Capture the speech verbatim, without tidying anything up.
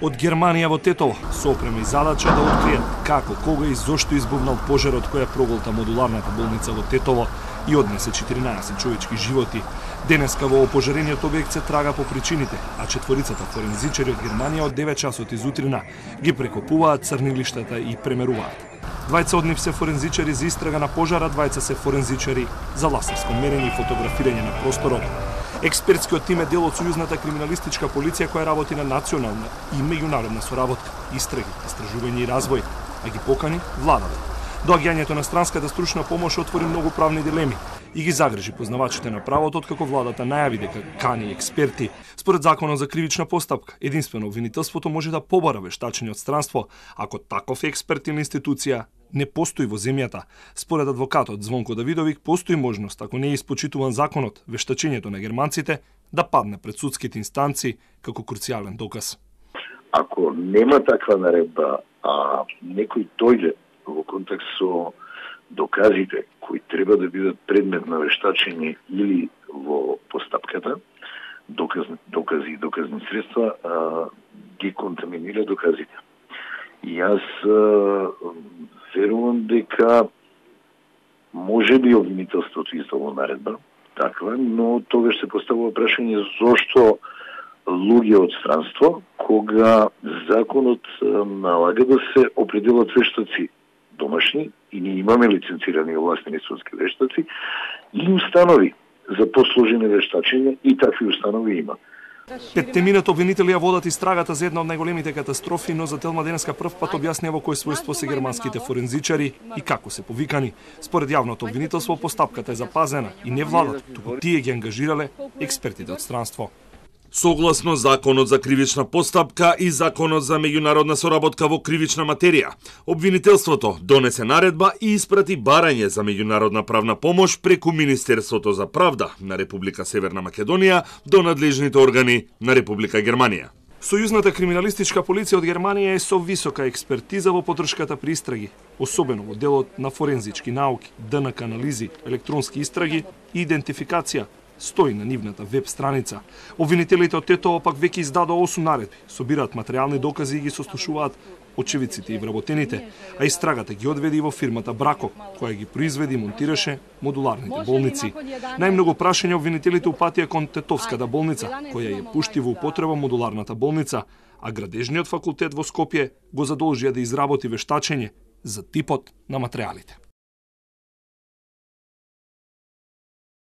Од Германија во Тетово со опрема и задача да откријат како, кога и зошто избувнал пожарот која проголта модуларната болница во Тетово и однесе четиринаесет човечки животи. Денеска во опожарениот објект се трага по причините, а четворицата форензичари од Германија од девет часот изутрина ги прекопуваат црнилиштата и премеруваат. Двајца од нив се форензичари за истрага на пожара, двајца се форензичари за ласерско мерење и фотографирање на просторот. Експертскиот тим е дел од Сојузната криминалистичка полиција која работи на национална и меѓународна соработка, истраги, истражување и развој, а ги покани владата. Доаѓањето на странската стручна помош отвори многу правни дилеми и ги загрижи познавачите на правото, откако владата најави дека кани експерти. Според законот за кривична постапка, единствено обвинителството може да побара вештачење од странство, ако таков експерт или институција не постои во земјата. Според адвокатот Звонко Давидовик, постои можност, ако не е испочитуван законот, вештачењето на германците да падне пред судските инстанции како круцијален доказ. Ако нема таква наредба, а некој дојде во контакт со доказите кои треба да бидат предмет на вештачење или во постапката, доказни, докази и доказни средства, а, ги контаминира доказите. И јас а, верувам дека може би обвинителството издало наредба, таква, но тогаш се поставува прашање зошто луѓе од странство, кога законот налага да се определат вештаци домашни, и ние имаме лиценцирани овластени судски вештаци, и установи за посложени вештачења, и такви установи има. Петтемината обвинители ја водат истрагата за една од најголемите катастрофи, но за Телма денеска прв пат објаснија во кој својство се германските форензичари и како се повикани. Според јавното обвинителство, постапката е запазена и не владата, туку тие ги ангажирале експертите од странство. Согласно Законот за кривична постапка и Законот за меѓународна соработка во кривична материја, обвинителството донесе наредба и испрати барање за меѓународна правна помош преку Министерството за правда на Република Северна Македонија до надлежните органи на Република Германија. Сојузната криминалистичка полиција од Германија е со висока експертиза во подршката при истраги, особено во делот на форензички науки, ДНК анализи, електронски истраги и идентификација, стои на нивната веб страница. Обвинителите од Тетово пак веќе издадоа осум наредби, собираат материјални докази и ги сослушуваат очевидците и вработените, а истрагата ги одведи во фирмата Брако, која ги произведи и монтираше модуларните болници. Најмногу прашања обвинителите упатија кон Тетовската болница, која ја пушти во употреба модуларната болница, а Градежниот факултет во Скопје го задолжија да изработи вештачење за типот на материјалите.